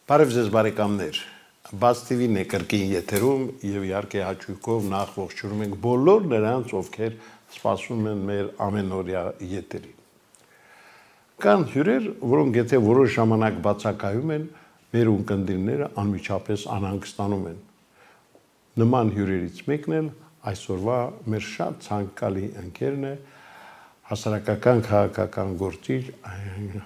Բարև ձեզ բարեկամներ, Բաց TV-ն է կրկին եթերում եւ իհարկե հաճույքով նախ ողջունում ենք բոլոր նրանց, ովքեր սպասում են մեր ամենօրյա եթերին։ Կան հյուրեր, որոնք եթե որոշ ժամանակ բացակայում են, մեր ունկնդիրները անմիջապես անհանգստանում են։ Նման հյուրերից մեկն էլ այսօրվա մեր շատ ցանկալի ընկերն է, հասարակական քաղաքական գործիչ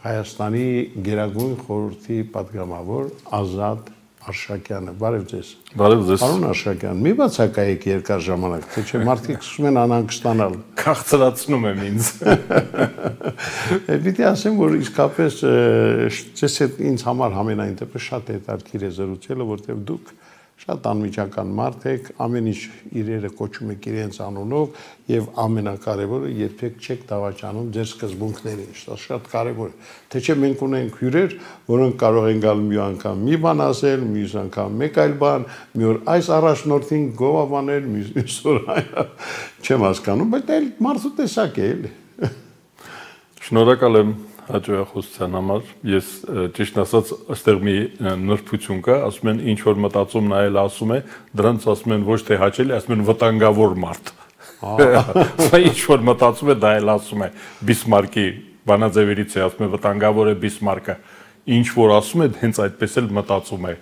Հայաստանի Գերագույն խորհրդի պատգամավոր Ազատ Արշակյանը։ Բարև ձեզ։ Բարև ձեզ։ Պարոն Արշակյան, մի բացակայեք երկար ժամանակ, թե չէ մարդիկ սկսում են անհանգստանալ։ Քաղցրացնում եմ ինձ։ Պիտի ասեմ, որ իսկապես ձեզ հետ ինձ համար համենայն դեպս շատ հետաքրքիր է զրուցելը, որտեղ դուք շատ անմիջական մարդ եք, ամեն ինչ իրերը կոչում եք իրենց անունով եւ ամենակարևորը երբեք չեք դավաճանում ձեր սկզբունքներին, դա շատ կարևոր է։ Թե չէ մենք ունենք հյուրեր, որոնք կարող են գալ մի անգամ մի բան ասել, մյուս անգամ մեկ այլ բան, մի օր այս առաջնորդին գովաբանել, մյուս օր այն, չեմ հասկանում, բայց դա մարդու տեսակ է, էլի։ Շնորհակալ եմ հաջողության համար։ Ես ճիշտ ասած այստեղ մի նրբություն կա, ասում են ինչ որ մտածում նայել ասում է, դրանց ասում են ոչ թե հաճելի, ասում են վտանգավոր մարդ։ Ինչ որ մտածում է, դա էլ ասում է Բիսմարկի բանաձևերից է, ասում է վտանգավոր է Բիսմարկը։ Ինչ որ ասում է, հենց այդպես էլ մտածում է։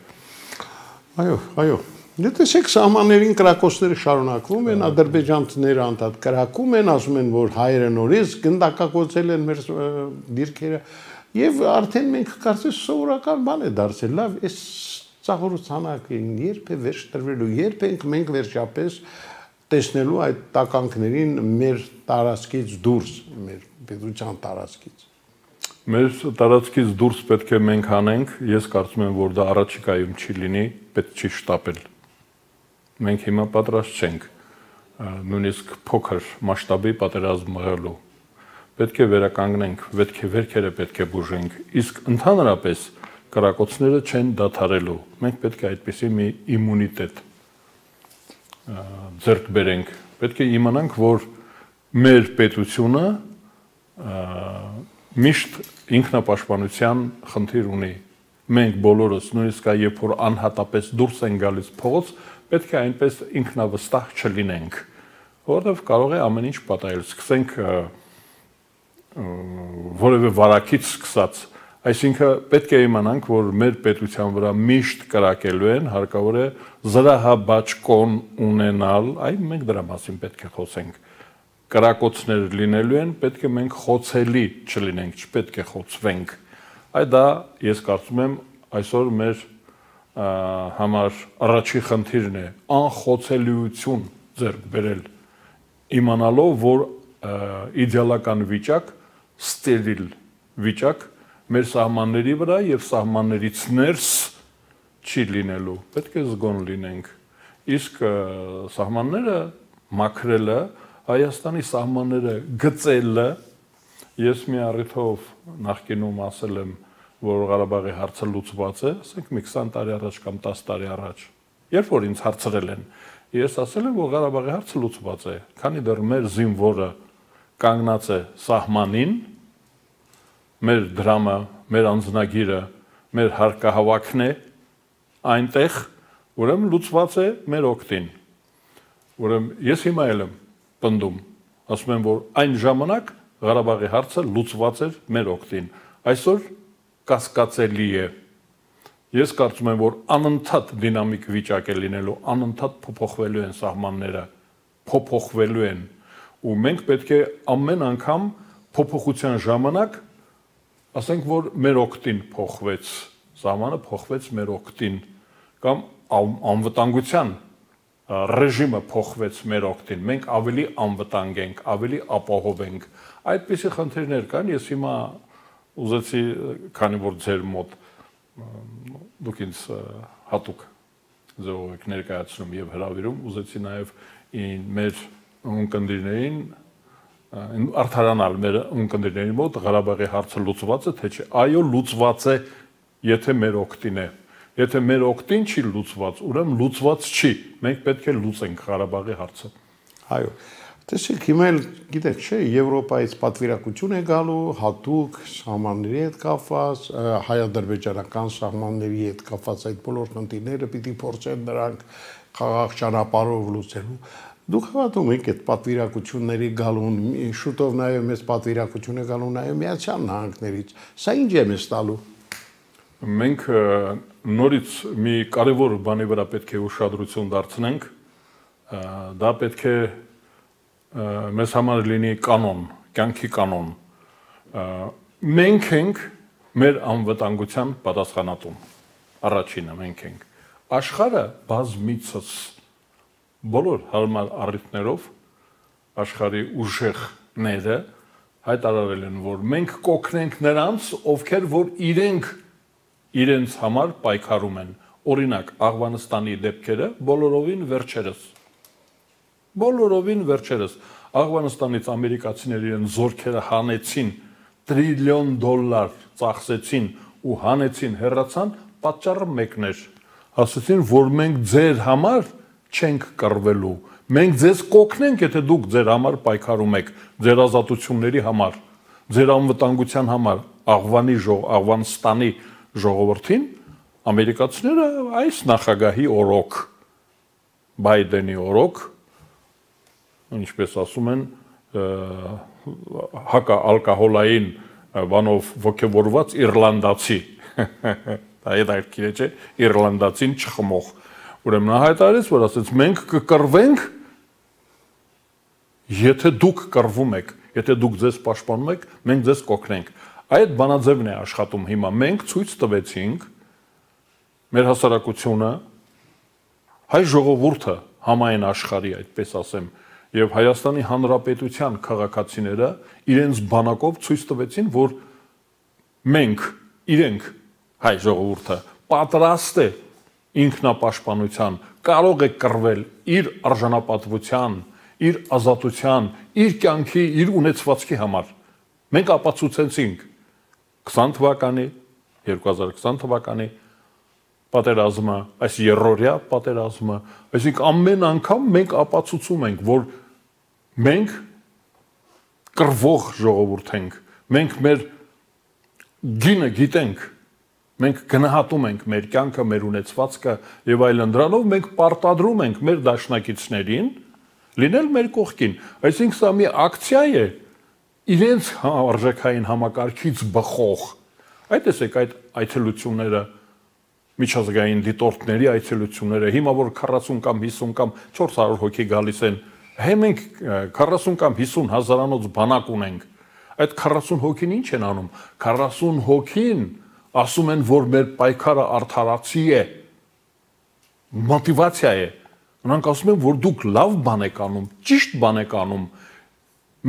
Այո։ Տեսեք, սահմաններին կրակոցները շարունակվում են, ադրբեջանցիները անդադ կրակում են, ասում են, որ հայերը նորից գնդակակոծել են մեր դիրքերը, եւ արդեն մենք կարծես սովորական բան է դարձել։ Լավ, այս ծաղրոցանակին երբ է վերջ տրվելու, երբ ենք մենք վերջապես տեսնելու այդ տականքներին մեր տարածքից դուրս, մեր պետության տարածքից։ Մեր տարածքից դուրս պետք է մենք անենք, ես կարծում եմ, որ դա առաջիկայում չի լինի, պետք չի շտապել։ Մենք հիմա պատրաստ չենք նույնիսկ փոքր մասշտաբի պատերազմ մղելու։ Պետք է վերականգնենք, վերքերը պետք է բուժենք, իսկ ընդհանրապես կրակոցները չեն դադարելու։ Մենք պետք է այդպիսի մի իմունիտետ ձեռք բերենք։ Պետք է իմանանք, որ մեր պետությունը միշտ ինքնապաշտպանության խնդիր ունի։ Մենք բոլորս, նույնիսկ երբ որ անհատապես դուրս են գալիս փողոց, պետք է այնպես ինքնավստահ չլինենք, որովհետև կարող է ամեն ինչ պատահել, սկսենք որևէ վարակից սկսած, այսինքն պետք է իմանանք, որ մեր պետության վրա միշտ կրակելու են, հարկավոր է զրահաբաճկոն ունենալ, այ մենք դրա մասին պետք է խոսենք, կրակոցներ լինելու են, պետք է մենք խոցելի չլինենք, չպետք է խոցվենք, այ դա ես կարծում եմ այսօր մեր համար առաջի խնդիրն է անխոցելիություն ձեռք բերել, իմանալով, որ իդեալական վիճակ, ստերիլ վիճակ մեր սահմանների վրա եւ սահմաններից ներս չի լինելու, պետք է զգոն լինենք, իսկ սահմանները մաքրելը, Հայաստանի սահմանները գծելը, ես մի առիթով նախկինում ասել եմ, որ Ղարաբաղի հարցը լուծված է, ասենք մի 20 տարի առաջ կամ 10 տարի առաջ, երբ որ ինձ հարցրել են, ես ասել եմ, որ Ղարաբաղի հարցը լուծված է, քանի դեռ մեր զինվորը կանգնած է սահմանին, մեր դրամը, մեր անձնագիրը, մեր հարկահավաքն է այնտեղ, ուրեմն լուծված է մեր օգտին։ Ուրեմն ես հիմա էլ եմ պնդում, ասում եմ, որ այն ժամանակ Ղարաբաղի հարցը լուծված էր մեր օգտին։ Այսօր կասկածելի է։ Ես կարծում եմ, որ անընդհատ դինամիկ վիճակ է լինելու, անընդհատ փոփոխվելու են սահմանները, փոփոխվելու են, ու մենք պետք է ամեն անգամ փոփոխության ժամանակ ասենք, որ մեր օգտին փոխվեց, սահմանը փոխվեց մեր օգտին, կամ անվտանգության ռեժիմը փոխվեց մեր օգտին, մենք ավելի անվտանգ ենք, ավելի ապահով ենք։ Այդպիսի խնդիրներ կան, ես հիմա ուզեցի, քանի որ ձեր մոտ դուք ինձ հատուկ ձևով եք ներկայացնում եւ հրավիրում, ուզեցի նաեւ մեր ունկնդիրներին արդարանալ մեր ունկնդիրների մոտ Ղարաբաղի հարցը լուծված է, թե չէ։ Այո, լուծված է, եթե մեր օգտին է։ Եթե մեր օգտին չի լուծված, ուրեմն լուծված չի։ Մենք պետք է լուծենք Ղարաբաղի հարցը։ Այո։ Տեսեք, հիմա էլ գիտեք, չէ, Եվրոպայից պատվիրակություն է գալու, հատուկ սահմանների հետ կապված, հայ-ադրբեջանական սահմանների հետ կապված այդ բոլոր խնդիրները պիտի փորձեն նրանք խաղաղ ճանապարհով լուծելու։ Դուք հավատում եք այդ պատվիրակությունների գալուն, շուտով նաև մեծ պատվիրակություն է գալու նաև Միացյալ Նահանգներից։ Սա ինչ է մեզ տալու։ Մենք նորից մի կարևոր բանի վրա պետք է ուշադրություն դարձնենք, դա պետք է մեզ համար լինի կանոն, կյանքի կանոն։ Մենք ենք մեր անվտանգության պատասխանատուն, առաջինը մենք ենք։ Աշխարհը բազմիցս բոլոր հարմար առիթներով աշխարհի ուժեղները հայտարարել են, որ մենք կօգնենք նրանց, ովքեր որ իրենց համար պայքարում են։ Օրինակ, Աղվանստանի դեպքերը բոլորովին վերջերս Աղվանստանից ամերիկացիները իրեն զորքերը հանեցին, $1 տրիլիոն ծախսեցին ու հանեցին, հեռացան, պատճառը մեկն էր։ Ասացին, որ մենք ձեր համար չենք կռվելու։ Մենք ձեզ կօգնենք, եթե դուք ձեր համար պայքարում եք, ձեր ազատությունների համար, ձեր անվտանգության համար, Աղվանստանի ժողովրդին, ամերիկացիները այս նախագահի օրոք, Բայդենի օրոք, ինչպես ասում են, հակաալկոհոլային բանով ոգևորված իռլանդացի, դա հետաքրքիր է, չէ, իռլանդացին չխմող։ Ուրեմն նա հայտարարեց, որ ասեց, մենք կկռվենք, եթե դուք կռվում եք, եթե դուք ձեզ պաշտպանում եք, մենք ձեզ կօգնենք։ Այդ բանաձևն է աշխատում հիմա։ Մենք ցույց տվեցինք մեր հասարակությունը, հայ ժողովուրդը համայն աշխարհի, այդպես ասեմ, եւ Հայաստանի Հանրապետության քաղաքացիները իրենց բանակով ցույց տվեցին, որ իրենք հայ ժողովուրդը պատրաստ է ինքնապաշտպանության, կարող է կռվել իր արժանապատվության, իր ազատության, իր կյանքի, իր ունեցվածքի համար։ Մենք ապացուցեցինք 2020 թվականի պատերազմը, այս երրորդյա պատերազմը, այսինքն ամեն անգամ մենք ապացուցում ենք, որ մենք կռվող ժողովուրդ ենք, մենք մեր գինը գիտենք, մենք գնահատում ենք մեր կյանքը, մեր ունեցվածքը եւ այլն, դրանով մենք պարտադրում ենք մեր դաշնակիցներին լինել մեր կողքին։ Այսինքն սա մի ակցիա է իրենց արժեքային համակարգից բխող։ Այդ տեսեք այդ այցելությունները, միջազգային դիտորդների այցելությունները, հիմա որ 40 կամ 50 կամ 400 հոգի գալիս են, մենք 40 կամ 50 հազարանոց բանակ ունենք։ Այդ 40 հոգին ինչ են անում։ 40 հոգին ասում են, որ մեր պայքարը արդարացի է, մոտիվացիա է։ Նրանք ասում են, որ դուք լավ բան եք անում, ճիշտ բան եք անում։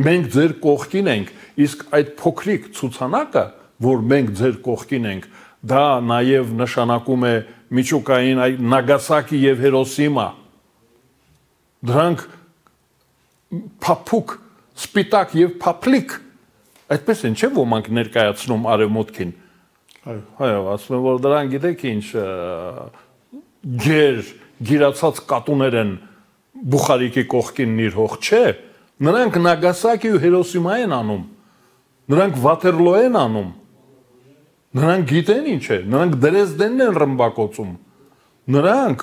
Մենք ձեր կողքին ենք, իսկ այդ փոքրիկ ցուցանակը, որ մենք ձեր կողքին ենք, դա նաև նշանակում է միջուկային Նագասակի եւ Հիրոսիմա։ Դրանք փափուկ, սպիտակ եւ փափլիկ, այդպես են, չէ՞ ոմանք ներկայացնում արևմուտքին։ Այո, ասում են, որ դրանք գիտեք ինչ գիրացած կատուներ են Բուխարիկի կողքին նիրհող, չէ։ Նրանք Նագասակի ու Հիրոսիմա են անում։ Նրանք Վաթերլո են անում։ Նրանք գիտեն ինչ է, նրանք Դրեզդենն են ռմբակոծում։ Նրանք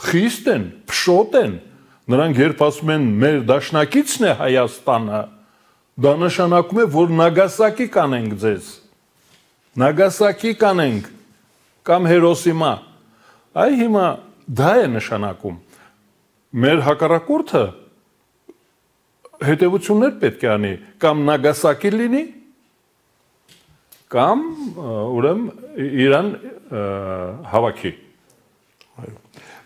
խիստ են, փշոտ են։ Նրանք երբ ասում են մեր դաշնակիցն է Հայաստանը, դա նշանակում է, որ Նագասակի կանենք ձեզ։ Նագասակի կանենք կամ Հիրոսիմա։ Այ հիմա դա է նշանակում։ Մեր հակառակորդը հետևություններ պետք է անի, կամ Նագասակի լինի, կամ ուրեմն Իրան հավաքի։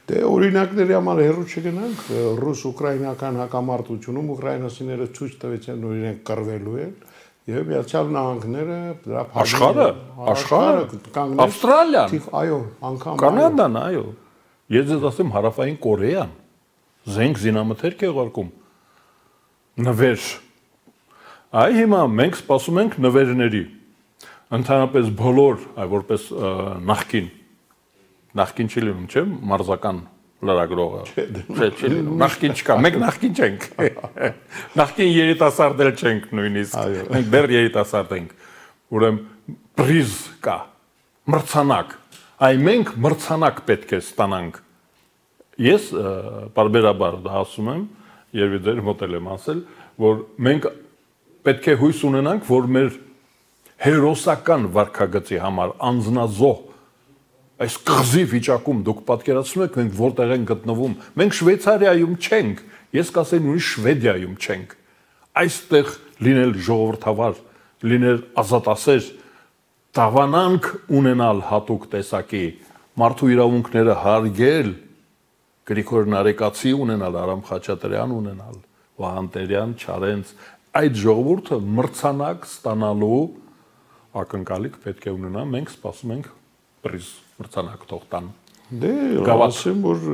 Դե օրինակների համար հեռու չգնանք, ռուս-ուկրաինական հակամարտությունում ուկրաինացիները ցույց տվեցին, որ իրենք կռվելու են, եւ Միացյալ Նահանգները դրա աշխարհը, Ավստրալիան, այո, անգամ Կանադան, այո։ Ես ձեզ ասեմ Հարավային Կորեան, զենք զինամթերք է ուղարկում, նվեր։ Այ հիմա մենք սպասում ենք նվերների։ Ընդհանրապես բոլոր, այ որպես նախքին չի լինում, չէ՞, մարզական լրագրողը։ Չէ, նախքին չկա, մենք նախքին չենք։ Նախքին երիտասարդ էլ չենք նույնիսկ։ Մենք դեռ երիտասարդ ենք։ Ուրեմն պրիզ կա, մրցանակ։ Այ մենք մրցանակ պետք է ստանանք։ Ես բարբերաբար դա ասում եմ, երբ դեր մոտել եմ ասել, որ մենք պետք է հույս ունենանք, որ մեր հերոսական վարքագծի համար անձնազոհ այս կղզի վիճակում դուք պատկերացնում եք մենք որտեղ ենք գտնվում, մենք Շվեյցարիայում չենք, ես կասեի նույնիսկ Շվեդիայում չենք, այստեղ լինել ժողովրդավար, լինել ազատասեր, դավանանք ունենալ հատուկ տեսակի, մարդու իրավունքները հարգել, Գրիգոր Նարեկացի ունենալ, Արամ Խաչատրյան ունենալ, Վահան Տերյան, Չարենց, այդ ժողովուրդը մրցանակ ստանալու ակնկալիք պետք է ունենա, մենք սպասում ենք պրիզ մրցանակ թող տան։ Դե, ասեմ, որ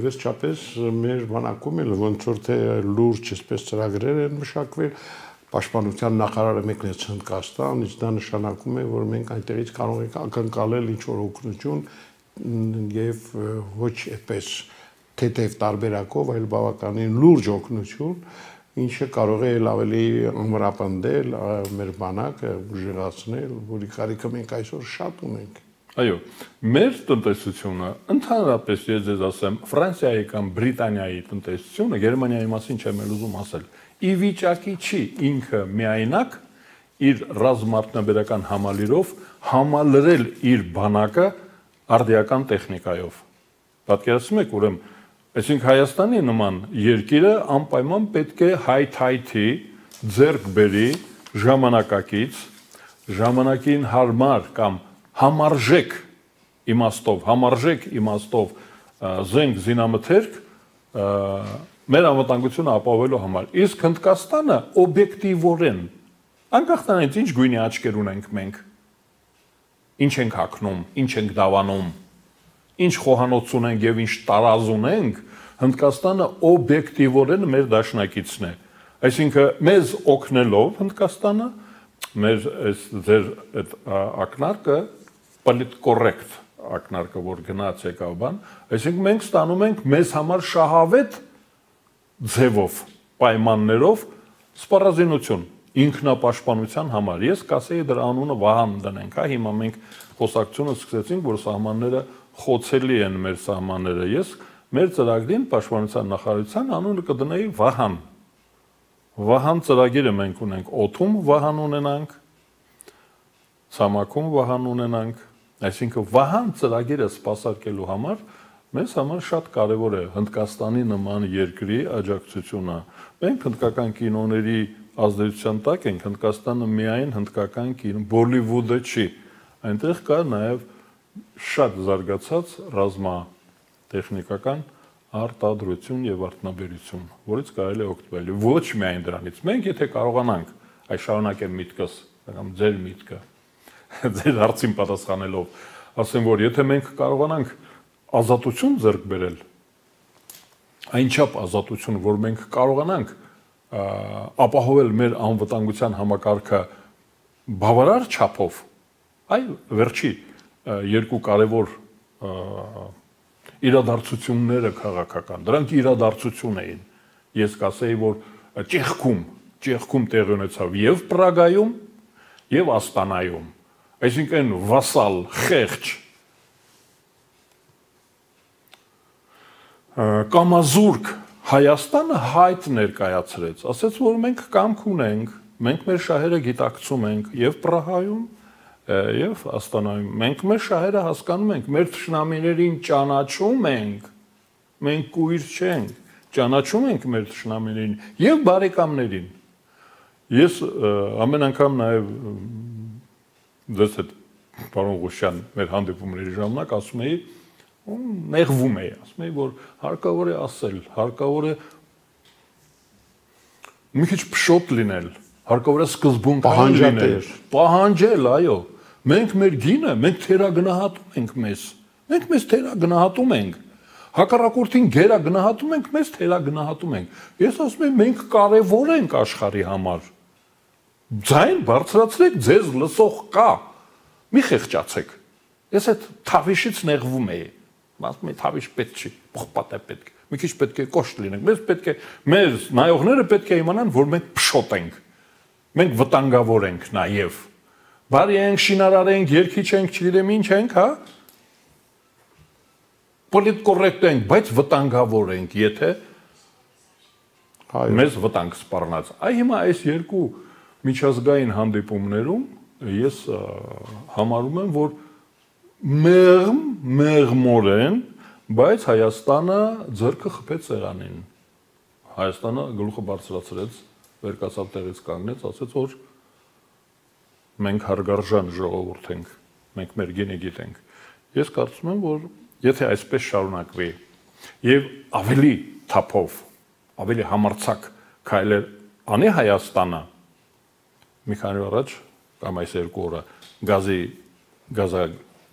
վերջապես մեր բանակում էլ ոնց որ թե լուրջ այսպես ծրագրեր են մշակվել, Պաշտպանության նախարարը մեկնեց Հնդկաստան, իսկ դա նշանակում է, որ մենք այնտեղից կարող ենք ակնկալել ինչ-որ օգնություն եւ ոչ այդպես թեթև տարբերակով, այլ բավականին լուրջ օգնություն, ինչը կարող է ավելի ամրապնդել մեր բանակը, ուժեղացնել, որի կարիքը մենք այսօր շատ ունենք։ Այո, մեր տնտեսությունը, ընդհանրապես ես ձեզ ասեմ, Ֆրանսիայի կամ Բրիտանիայի տնտեսությունը, Գերմանիայի մասին չեմ ուզում ասել, ի վիճակի չի ինքը միայնակ իր ռազմարդյունաբերական համալիրով համալրել իր բանակը արդիական տեխնիկայով։ Պատկերացնում եք, ուրեմն, այսինքն Հայաստանի նման երկիրը անպայման պետք է հայթայթի ձեռք բերի ժամանակակից, ժամանակին հարմար կամ համարժեք իմաստով զենք զինամթերք մեր անվտանգությունը ապահովելու համար։ Իսկ Հնդկաստանը օբյեկտիվորեն, անկախ նրանից ինչ գույնի աչքեր ունենք մենք, ինչ ենք հագնում, ինչ ենք դավանում, ինչ խոհանոց ունենք եւ ինչ տարազ ունենք, Հնդկաստանը օբյեկտիվորեն մեր դաշնակիցն է։ Այսինքն մեզ օգնելով Հնդկաստանը մեր այս ձեր այդ ակնարկը պոլիտկորեկտ ակնարկը որ գնաց եկավ բան, այսինքն մենք ստանում ենք մեզ համար շահավետ ձևով, պայմաններով սպառազինություն ինքնապաշտպանության համար։ Ես կասեի դրա անունը Վահան դնենք, հա, հիմա մենք խոսակցությունը սկսեցինք, որ սահմանները խոցելի են մեր սահմանները։ Ես մեր ծրագրին պաշտպանության նախարարության անունը կդնեի Վահան։ Վահան ծրագիրը մենք ունենք, օդում Վահան ունենանք, ցամաքում Վահան ունենանք, այսինքն Վահան ծրագիրը սպասարկելու համար մեզ համար շատ կարևոր է Հնդկաստանի նման երկրի աջակցությունը։ Մենք հնդկական կինոների ազդեցության տակ ենք, Հնդկաստանը միայն հնդկական կինո, Բոլիվուդը չի։ Այնտեղ կա նաև շատ զարգացած ռազմատեխնիկական արտադրություն եւ արտոնաբերություն, որից կարելի է օգտվել։ Ոչ միայն դրանից։ Մենք եթե կարողանանք, այ շարունակեմ միտքս, կամ ձեր միտքը, ձեր հարցին պատասխանելով, ասեմ, որ եթե մենք կարողանանք ազատություն ձեռք բերել, այնչափ ազատություն, որ մենք կարողանանք ապահովել մեր անվտանգության համակարգը բավարար չափով, այ վերջի երկու կարևոր իրադարձությունները քաղաքական, դրանք իրադարձություն էին։ Ես կասեի, որ Ճեխքում տեղի ունեցավ եւ Պրագայում եւ Աստանայում։ Այսինքն վասալ, խեղճ, կամազուրկ Հայաստանը հայտ ներկայացրեց, ասաց, որ մենք կամք ունենք, մենք մեր շահերը գիտակցում ենք եւ Պրահայում եւ Աստանայում, մենք մեր շահերը հասկանում ենք, մեր թշնամիներին ճանաչում ենք, մենք կույր չենք, ճանաչում ենք մեր թշնամիներին եւ բարեկամներին։ Ես ամեն անգամ նաեւ դες այդ պարոն Ղուշյան մեր հանդիպումների ժամանակ ասում էի, նեղվում էի, ասում էի, որ հարկավոր է ասել, հարկավոր է մի քիչ փշոտ լինել, հարկավոր է սկզբունքային լինել, պահանջել, այո, մենք մեր գինը, մենք թերագնահատում ենք մեզ, մենք մեզ թերագնահատում ենք, հակառակորդին գերագնահատում ենք, մեզ թերագնահատում ենք, ես ասում եմ, մենք կարևոր ենք աշխարհի համար, ձայն բարձրացրեք, ձեզ լսող կա, մի խեղճացեք, ես այդ թավիշից նեղվում էի, ասում է հավիշ պետք չի, փոխպատ է պետք։ Մի քիչ պետք է կոշտ լինենք։ Մեզ պետք է մեր նայողները պետք է իմանան, որ մենք փշոտ ենք։ Մենք վտանգավոր ենք նաև։ Բարի ենք, շինարար ենք, երկիչ ենք, չգիտեմ ինչ ենք, հա։ Պոլիտկորեկտ ենք, բայց վտանգավոր ենք, եթե մեզ վտանգ սպառնաց։ Այ հիմա այս երկու միջազգային հանդիպումներում ես համարում եմ, որ մեղմորեն, բայց Հայաստանը ձեռքը խփեց սեղանին։ Հայաստանը գլուխը բարձրացրեց, վերկացավ տեղից կանգնեց, ասեց, որ մենք հարգարժան ժողովուրդ ենք, մենք մեր գինը գիտենք։ Ես կարծում եմ, որ եթե այսպես շարունակվի եւ ավելի թափով, ավելի համարձակ քայլեր անի Հայաստանը, մի քանի օր առաջ կամ այս երկու օրը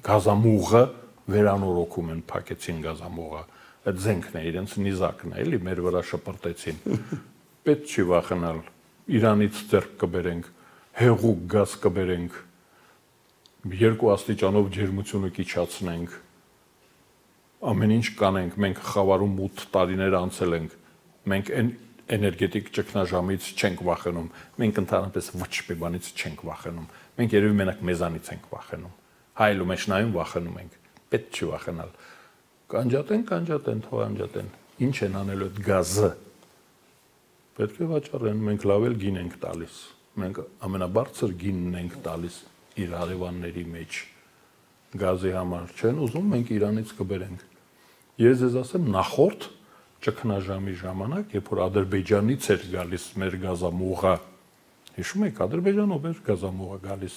գազամուղը վերանորոգում են, փակեցին գազամուղը, այդ զենքն է, իրենց նիզակն է, էլի մեր վրա շպրտեցին։ Պետք չի վախենալ, Իրանից ձեռք կբերենք, հեղուկ գազ կբերենք, 2 աստիճանով ջերմությունը կիչացնենք, ամեն ինչ կանենք, մենք խավարում 8 տարիներ անցել ենք, մենք էներգետիկ ճգնաժամից չենք վախենում, մենք ընդհանրապես ոչ մի բանից չենք վախենում, մենք երևի մենակ մեզանից ենք վախենում, հայելու մեջ նայում վախենում ենք, պետք չի վախենալ, կանջատեն, թող անջատեն, ինչ են անելու այդ գազը, պետք է վաճառեն, մենք լավ էլ գին ենք տալիս, մենք ամենաբարձր գինն ենք տալիս իր հարևանների մեջ, գազի համար չեն ուզում, մենք Իրանից կբերենք, ես ձեզ ասեմ նախորդ ճգնաժամի ժամանակ, երբ որ Ադրբեջանից էր գալիս մեր գազամուղը, հիշում եք, Ադրբեջանով էր գազամուղը գալիս,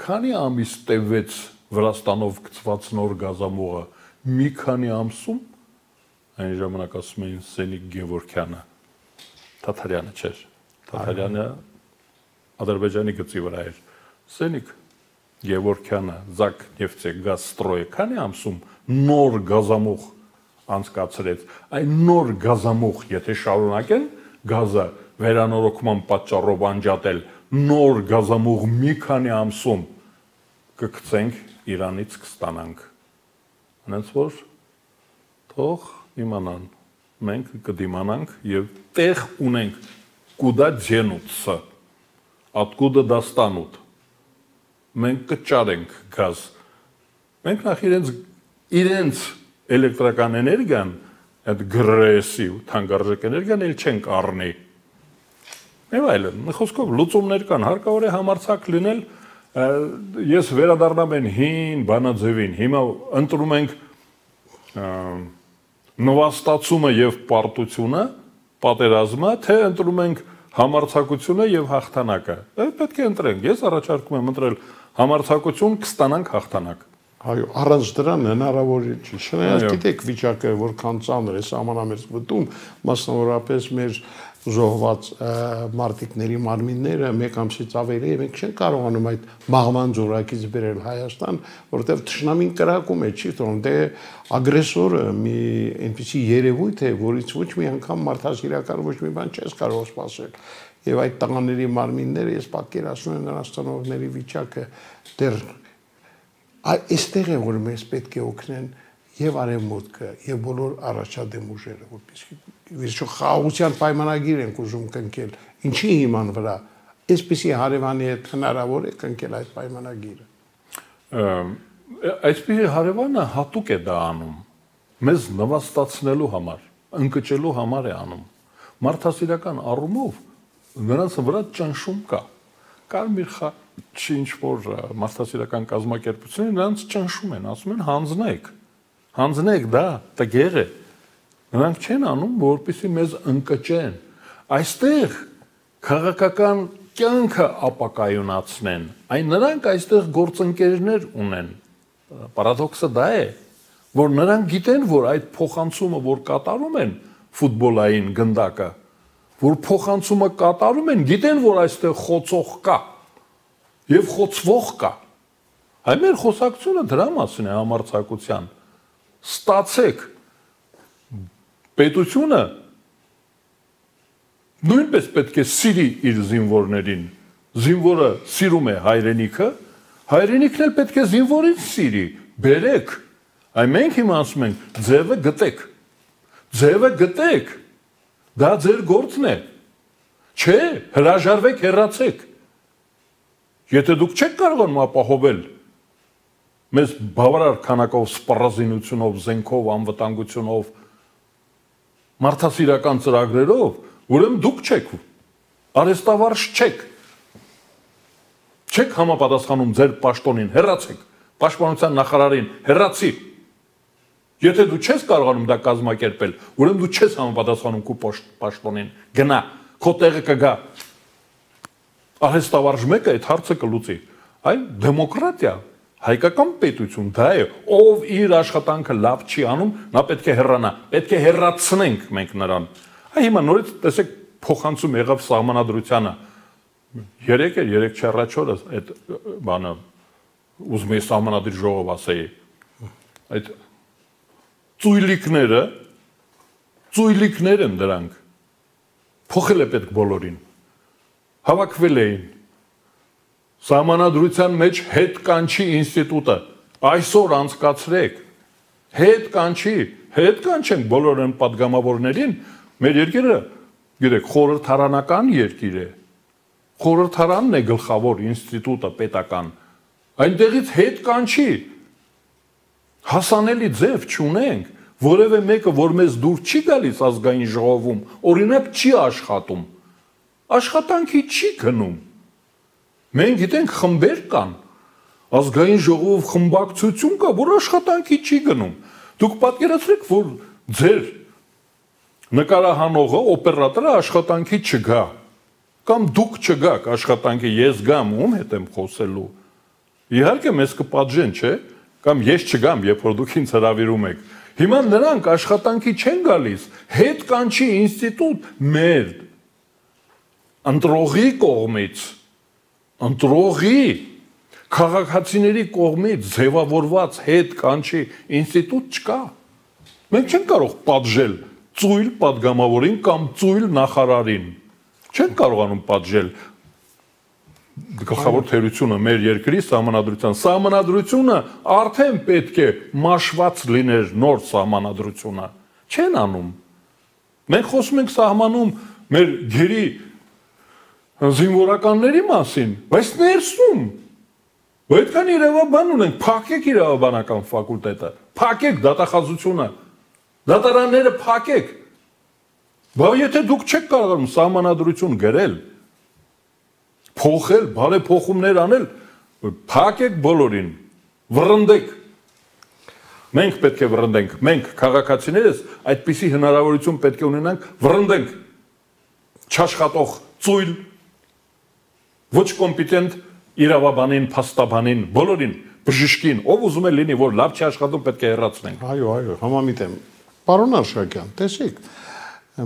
քանի ամիս տևեց Վրաստանով գծված նոր գազամուղը, մի քանի ամսում, այն ժամանակ ասում էին Սենիկ Գևորգյանը, Թաթարյանը չէր, Թաթարյանը Ադրբեջանի գծի վրա էր, Սենիկ Գևորգյանը, Զակ Նեֆտեգազստրոյը, քանի ամսում նոր գազամուղ անցկացրեց, այն նոր գազամուղ, եթե շարունակեն գազը վերանորոգման պատճառով անջատել, նոր գազամուղ մի քանի ամսում կգցենք Իրանից կստանանք, հենց որ թող իմանան, մենք կդիմանանք և տեղ ունենք, կուդա ձենուցը, ատկուդը դաստանուտ, մենք կճարենք գազ, մենք նախ իրենց էլեկտրական էներգիան, այդ գրեսիվ թանկարժեք էներգիան էլ չենք առնի, և այլն, խոսքով լուծումներ կան, հարկավոր է համարձակ լինել, ես վերադառնամ են հին բանաձևին, հիմա ընտրում ենք նվաստացումը և պարտությունը, պատերազմը, թե ընտրում ենք համարձակությունը և հաղթանակը, պետք է ընտրենք, ես առաջարկում եմ ընտրել համարձակություն, կստանանք հաղթանակ։ Այո, առանց դրան հնարավոր չի, չնայած գիտեք վիճակը որքան ծանր է սահմանամերձ մտում, մասնավորապես մեր զոհված մարտիկների մարմինները մեկ ամսից ավելի է, մենք չենք կարողանում այդ մահվան ձորակից բերել Հայաստան, որովհետև թշնամին կրակում է, չի թվում, դե ագրեսորը մի այնպիսի երևույթ է, որից ոչ մի անգամ մարդասիրական ոչ մի բան չես կարող սպասել։ Եվ այդ տղաների մարմինները, ես պատկերացնում եմ նրանց ծնողների վիճակը, դեռ այստեղ է, որ մեզ պետք է օգնեն եւ արևմուտքը եւ բոլոր առաջադեմ ուժերը, որպեսզի վերջո խաղաղության պայմանագիր ենք ուզում կնքել, ինչի հիման վրա, այսպիսի հարևանի հետ հնարավոր է կնքել այդ պայմանագիրը։ Այսպիսի հարևանը հատուկ է դա անում, մեզ նվաստացնելու համար, ընկճելու համար է անում, մարդասիրական առումով նրանց վրա ճնշում կա, կարմիր չի ինչ-որ մարդասիրական կազմակերպությունները նրանց ճնշում են, ասում են հանձնեք, դա տգեղ է, նրանք չեն անում, որպեսզի մեզ ընկճեն, այստեղ քաղաքական կյանքը ապակայունացնեն, այն նրանք այստեղ գործընկերներ ունեն, պարադոքսը դա է, որ նրանք գիտեն, որ այդ փոխանցումը, որ կատարում են ֆուտբոլային գնդակը, որ փոխանցումը կատարում են, գիտեն, որ այստեղ խոցող կա և խոցվող կա, այ մեր խոսակցությունը դրա մասին է համարձակության, ստացեք պետությունը նույնպես պետք է սիրի իր զինվորներին, զինվորը սիրում է հայրենիքը, հայրենիքն էլ պետք է զինվորին սիրի, բերեք, Այ մենք հիմա ասում ենք, ձևը գտեք։ Ձևը գտեք։ Դա ձեր գործն է։ Չէ, հրաժարվեք, հեռացեք։ Եթե դուք չեք կարողանում ապահովել մեզ բավարար քանակով սպառազինությունով, զենքով, անվտանգությունով, մարդասիրական ծրագրերով, ուրեմն դուք չեք, արհեստավարժ չեք։ Չեք համապատասխանում ձեր պաշտոնին, հեռացեք, պաշտպանության նախարարին, հեռացի։ Եթե դու չես կարողանում դա կազմակերպել, ուրեմն դու չես համապատասխանում քո պաշտոնին, գնա, քո տեղը կգա։ Արհեստավարժ մեկը այդ հարցը կլուծի։ Այ դեմոկրատիա, հայկական պետություն դա է, ով իր աշխատանքը լավ չի անում, նա պետք է հեռանա, պետք է հեռացնենք մենք նրան։ Այ հիմա նորից տեսեք փոխանցում եղավ սահմանադրությանը։ 3 չառաջ օրը այդ բանը ուզում էի սահմանադրի ժողով ասեի։ Այդ ծույլիկներ են դրանք։ Փոխել է պետք բոլորին։ Հավաքվել էին։ Սահմանադրության մեջ հետ կանչի ինստիտուտը այսօր անցկացրեք։ Հետ կանչենք բոլոր այն պատգամավորներին, մեր երկիրը, գիտեք, խորհրդարանական երկիր է։ Խորհրդարանն է գլխավոր ինստիտուտը պետական։ Այնտեղից հետ կանչի։ Հասանելի ձև չունենք, որևէ մեկը, որ մեզ դուր չի գալիս ազգային ժողովում, օրինակ չի աշխատում։ Աշխատանքի չի գնում։ Մենք գիտենք խմբեր կան, ազգային ժողով խմբակցություն կա, որ աշխատանքի չի գնում։ Դուք պատկերացրեք, որ ձեր նկարահանողը, օպերատորը աշխատանքի չգա, կամ դուք չգաք աշխատանքի, ես գամ, ում հետ եմ խոսելու։ Իհարկե մեզ կպատժեն, չէ՞, կամ ես չգամ, երբ որ դուք ինձ հրավիրում եք։ Հիմա նրանք աշխատանքի չեն գալիս, հետ կանչի ինստիտուտ մեր ընտրողի կողմից, ընտրողի քաղաքացիների կողմից ձևավորված հետ կանչի ինստիտուտ չկա։ Մենք չենք կարող պատժել ծույլ պատգամավորին կամ ծույլ նախարարին։ Չենք կարողանում պատժել գլխավոր թերությունը մեր երկրի սահմանադրությունը արդեն պետք է մաշված լիներ նոր սահմանադրությունը։ Չեն անում։ Մենք խոսում ենք սահմանում մեր գերի զինվորականների մասին, բայց ներսում այդքան իրավաբան ունենք, փակեք իրավաբանական ֆակուլտետը, փակեք դատախազությունը, դատարանները փակեք։ Բայց եթե դուք չեք կարողանում սահմանադրություն գրել, փոխել, բարեփոխումներ անել, փակեք բոլորին, վռնդեք։ Մենք պետք է վռնդենք, մենք քաղաքացիներս այդպիսի հնարավորություն պետք է ունենանք, վռնդենք չաշխատող ծույլ, ոչ կոմպետենտ իրավաբանին, փաստաբանին, բոլորին, բժշկին, ով ուզում է լինի, որ լավ չի աշխատում, պետք է հեռացնենք։ Այո, համամիտ եմ։ Պարոն Արշակյան, տեսեք,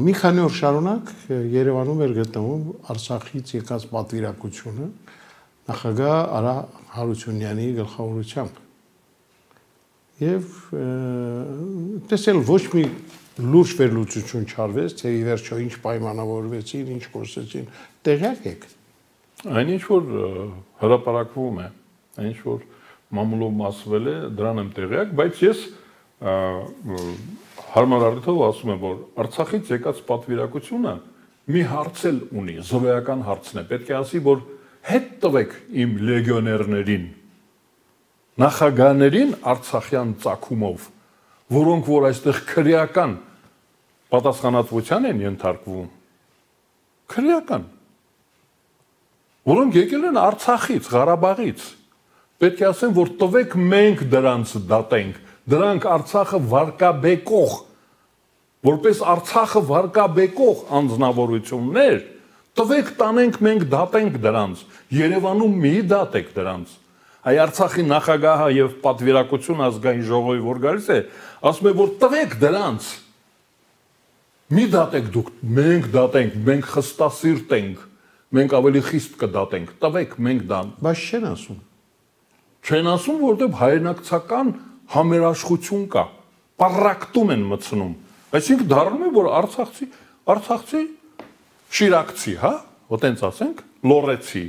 մի քանի օր շարունակ Երևանում էր գտնվում Արցախից եկած պատվիրակությունը նախագահ Արա Հարությունյանի գլխավորությամբ։ Եվ տեսել ոչ մի լուրջ վերլուծություն չարվեց, թե ի վերջո ինչ պայմանավորվեցին, ինչ խոսեցին, տեղյակ եք։ Այնինչ որ հրապարակվում է, այնինչ որ մամուլով ասվել է, դրան եմ տեղյակ, բայց ես հարմար առիթով ասում եմ, որ Արցախից եկած պատվիրակությունը մի հարց էլ ունի, զրոյական հարցն է, պետք է ասի, որ հետ տվեք իմ լեգիոներներին, նախագահներին արցախյան ծագումով, որոնք որ այստեղ քրեական պատասխանատվության են ենթարկվում, քրեական, որոնք եկել են Արցախից, Ղարաբաղից, պետք է ասեմ, որ տվեք մենք դրանց դատենք, դրանք Արցախը վարկաբեկող, որպես Արցախը վարկաբեկող անձնավորություններ, տվեք տանենք մենք դատենք դրանց, Երևանում մի դատեք դրանց։ Այ Արցախի նախագահը եւ պատվիրակություն ազգային ժողովի որ գալիս է, ասում է, որ տվեք դրանց, մի դատեք դուք, մենք դատենք, մենք խստասիրտ ենք, մենք ավելի խիստ կդատենք, տվեք մենք դան։ Բայց չեն ասում։ Չեն ասում, որտեղ հայրենակցական համերաշխություն կա, պարակտում են մտցնում, այսինքն դառնում է, որ արցախցի շիրակցի, հա, ոտենց ասենք, լորեցի,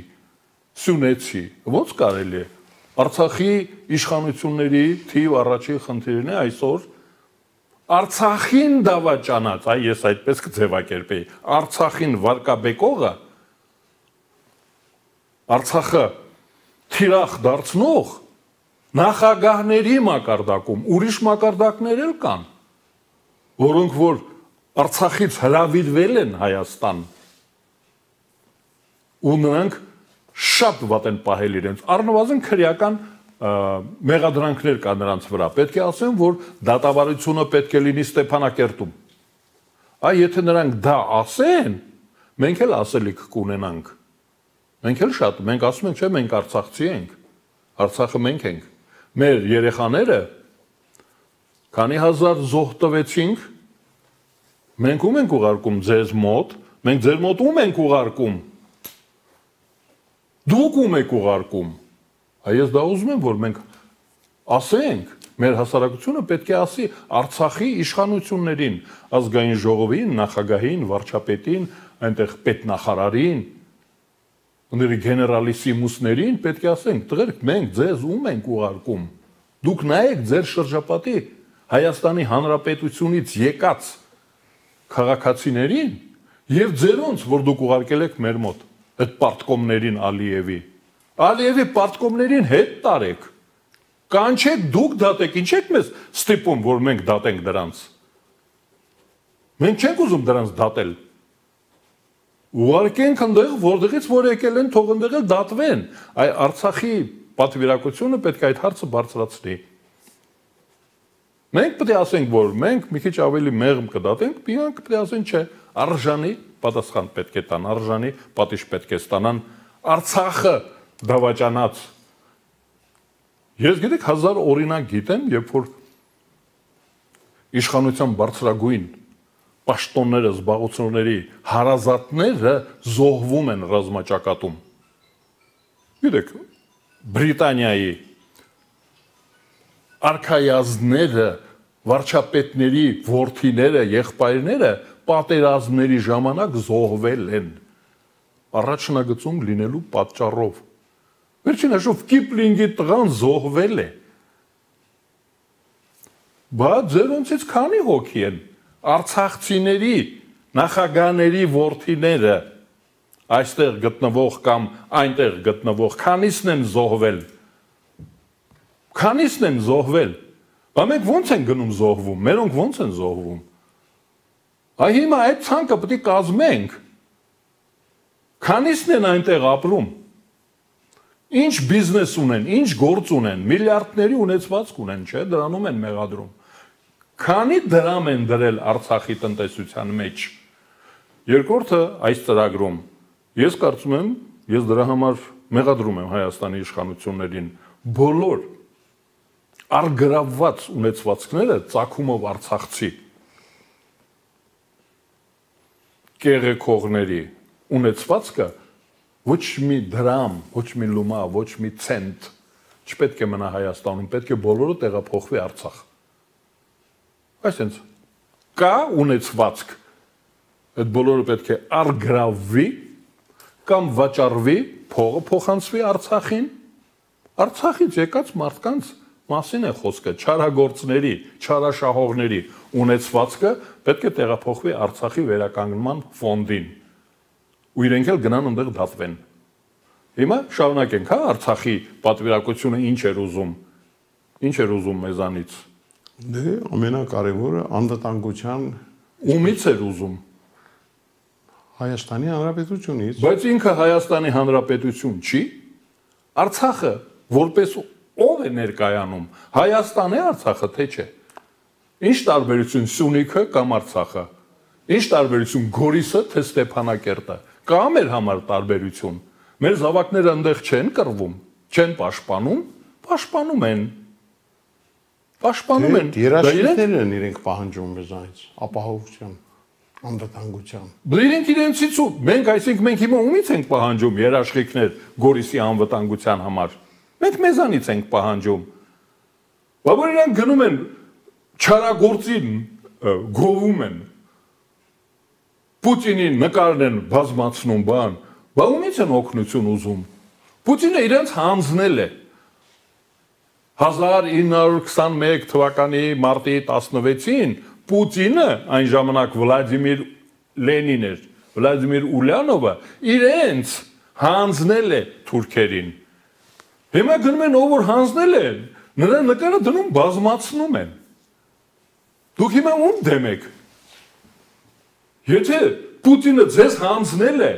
սյունեցի, ոնց կարելի է, Արցախի իշխանությունների թիվ առաջի խնդիրն է այսօր Արցախին դավաճանած, ես այդպես կձևակերպեի, Արցախին վարկաբեկողը, Արցախը թիրախ դարձնող նախագահների մակարդակում, ուրիշ մակարդակներ էլ կան, որոնք որ Արցախից հրավիրվել են Հայաստան, ու նրանք շատ վատ են պահել իրենց, առնվազն քրեական մեղադրանքներ կա նրանց վրա, պետք է ասեմ, որ դատավարությունը պետք է լինի Ստեփանակերտում, եթե նրանք դա ասեն, մենք էլ ասելիք կունենանք, մենք էլ շատ, մենք ասում ենք, չէ, մենք արցախցի ենք, Արցախը մենք ենք, մեր երեխաները, քանի հազար զոհ տվեցինք, մենք ում ենք ուղարկում ձեզ մոտ, մենք ձեր մոտ ում ենք ուղարկում, դուք ում եք ուղարկում, ես դա ուզում եմ, որ մենք ասենք, մեր հասարակությունը պետք է ասի Արցախի իշխանություններին, ազգային ժողովին, նախագահին, վարչապետին, այնտեղ պետնախարարին, գեներալիսիմուսներին պետք է ասենք, տղերք, մենք ձեզ ում ենք ուղարկում, դուք նայեք ձեր շրջապատի Հայաստանի Հանրապետությունից եկած քաղաքացիներին եւ ձերոնց, որ դուք ուղարկել եք մեր մոտ, այդ պարտկոմներին Ալիևի պարտկոմներին հետ տարեք, կանչեք դուք դատեք, ինչ եք մեզ ստիպում, որ մենք դատենք դրանց, մենք չենք ուզում դրանց դատել, ուղարկենք ընդեղ, որտեղից որ եկել են, թող ընդեղ էլ դատվեն, Արցախի պատվիրակությունը պետք է այդ հարցը բարձրացնի, մենք պետք է ասենք, որ մենք մի քիչ ավելի մեղմ կդատենք, իրանք պետք է ասեն, չէ, արժանի պատասխան պետք է տան, արժանի պատիժ պետք է ստանան, Արցախը դավաճանած, ես գիտեք, 1000 օրինակ գիտեմ, երբ որ իշխանության բարձրագույն պաշտոնները, զբաղությունների հարազատները զոհվում են ռազմաճակատում, գիտեք, Բրիտանիայի արքայազները, վարչապետների որդիները, եղբայրները պատերազմների ժամանակ զոհվել են, առաջնագծում լինելու պատճառով, վերջին հաշվով Կիպլինգի տղան զոհվել է, բայց ձերոնցից քանի հոգի են, արցախցիների, նախագահների որդիները, այստեղ գտնվող կամ այնտեղ գտնվող, քանիսն են զոհվել, մենք ոնց են գնում զոհվում, մերոնք ոնց են զոհվում, հիմա այդ ցանկը պետք է կազմենք, քանիսն են այնտեղ ապրում, ինչ բիզնես ունեն, ինչ գործ ունեն, միլիարդների ունեցվածք ունեն, չէ, դրանում են մեղադրում, քանի դրամ են դրել Արցախի տնտեսության մեջ, երկրորդը այս ծրագրում, ես կարծում եմ, ես դրա համար մեղադրում եմ Հայաստանի իշխանություններին, բոլոր արգրավված ունեցվածքները ծագումով արցախցի կեղեքողների ունեցվածքը ոչ մի դրամ, ոչ մի լումա, ոչ մի ցենտ չպետք է մնա Հայաստանում, պետք է բոլորը տեղափոխվի Արցախ։ Այսինքն կա ունեցվածք, այդ բոլորը պետք է արգրավվի կամ վաճառվի, փողը փոխանցվի Արցախին, Արցախից եկած մարդկանց մասին է խոսքը, չարագործների, չարաշահողների ունեցվածքը պետք է տեղափոխվի Արցախի վերականգնման ֆոնդին ու իրենք էլ գնան ընդեղ դատվեն։ Հիմա շարունակենք, Արցախի պատվիրակությունը ինչ էր ուզում մեզանից։ Դե ամենակարևորը անվտանգության ումից էր ուզում։ Հայաստանի Հանրապետությունից։ Բայց ինքը Հայաստանի Հանրապետություն չի։ Արցախը որպես ով է ներկայանում, Հայաստան է Արցախը, թե չէ։ Ինչ տարբերություն Սյունիքը կամ Արցախը։ Ինչ տարբերություն Գորիսը, թե Ստեփանակերտը։ Կա մեր համար տարբերություն։ Մեր զավակները այնտեղ չեն կռվում, չեն պաշտպանում, պաշտպանում են։ Երաշխիքներն են իրենք պահանջում մեզանից, ապահովության, անվտանգության։ Իրենք իրենցից ու մենք, այսինքն մենք հիմա ումից ենք պահանջում երաշխիքներ Գորիսի անվտանգության համար։ Մենք մեզանից ենք պահանջում։ Բայց իրանք գնում են չարագործին գովում են։ Պուտինին նկարն են բազմացնում բան, բա ումից են օգնություն ուզում։ Պուտինը իրենց հանձնել է։ 1921 թվականի մարտի 16-ին Պուտինը այն ժամանակ Վլադիմիր Լենին էր, Վլադիմիր Ուլյանովը իրենց հանձնել է թուրքերին։ Հիմա գնում են ով որ հանձնել են, նրա նկարը դնում բազմացնում են։ Դուք հիմա ում դեմ եք։ Եթե Պուտինը ձեզ հանձնել է,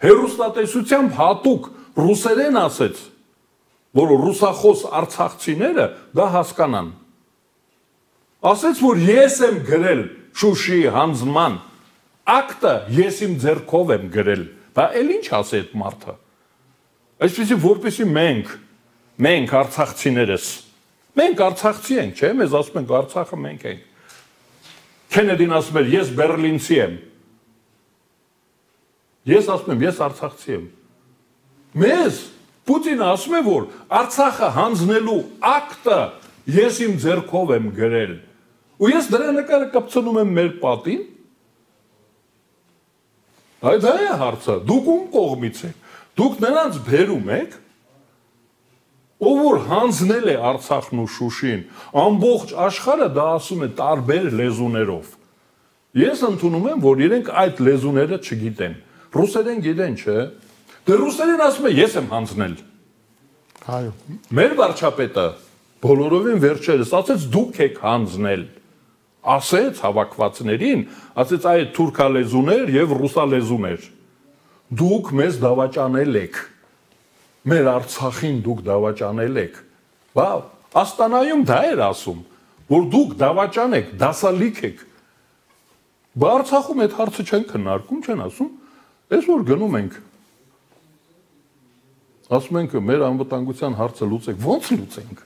հերոստատեսությամբ հատուկ ռուսերեն ասեց, որ ռուսախոս արցախցիները դա հասկանան։ Ասեց, որ ես եմ գրել Շուշի հանձնման ակտը, ես իմ ձեռքով եմ գրել։ Բա էլ ինչ ասի այդ մարդը։ Այսպեսի որպեսի մենք արցախցիներս, մենք արցախցի ենք, չէ՞, մեզ ասում ենք Արցախը մենք ենք։ Քենեդին ասում էր, ես բերլինցի եմ։ Ես ասում եմ, ես արցախցի եմ։ Մեզ Պուտինը ասում է, որ Արցախը հանձնելու ակտը ես իմ ձեռքով եմ գրել։ Ու ես դրա նկարը կպցնում եմ մեր պատին։ Այդ դա է հարցը, դուք ում կողմից եք, դուք նրանց բերում եք, ով որ հանձնել է Արցախն ու Շուշին, ամբողջ աշխարհը դա ասում է տարբեր լեզուներով։ Ես ընդունում եմ, որ իրենք այդ լեզուները չգիտեն, ռուսերեն գիտեն, չէ՞։ Դե ռուսերեն ասում է, ես եմ հանձնել։ Այո։ Մեր վարչապետը բոլորովին վերջերս ասեց, դուք եք հանձնել։ Ասեց հավաքվածներին, ասեց այդ թուրքալեզուներ եւ ռուսալեզուներ։ Դուք մեզ դավաճանել եք։ Մեր Արցախին դուք դավաճանել եք։ Բա Աստանայում դա էր ասում, որ դուք դավաճան եք, դասալիք եք։ Բա Արցախում այդ հարցը չեն քննարկում, չեն ասում, այսօր գնում ենք։ Ասում ենք մեր անվտանգության հարցը լուծեք, ո՞նց լուծենք։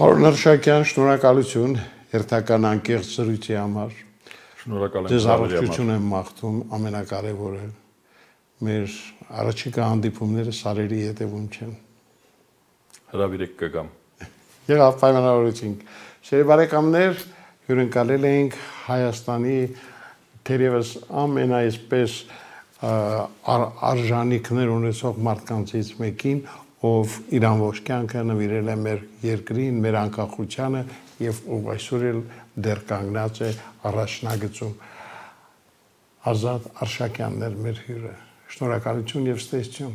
Պարոն Արշակյան, շնորհակալություն հերթական անկեղծ զրույցի համար։ Շնորհակալ եմ։ Ձեզ առողջություն եմ մաղթում, ամենակարևորը մեր առաջիկա հանդիպումները սարերի հետևում չեն։ Հրավիրեք կգամ։ Եղավ պայմանավորություն։ Սիրելի բարեկամներ, հյուրընկալել ենք Հայաստանի թերևս ամենայսպես արժանիքներ ունեցող մարդկանցից մեկին, ով իր ամբողջ կյանքը նվիրել է մեր երկրին, մեր անկախությանը եւ ով այսօր էլ դեռ կանգնած է առաջնագծում։ Ազատ Արշակյանն էր մեր հյուրը։ Շնորհակալություն եւ ստեսություն։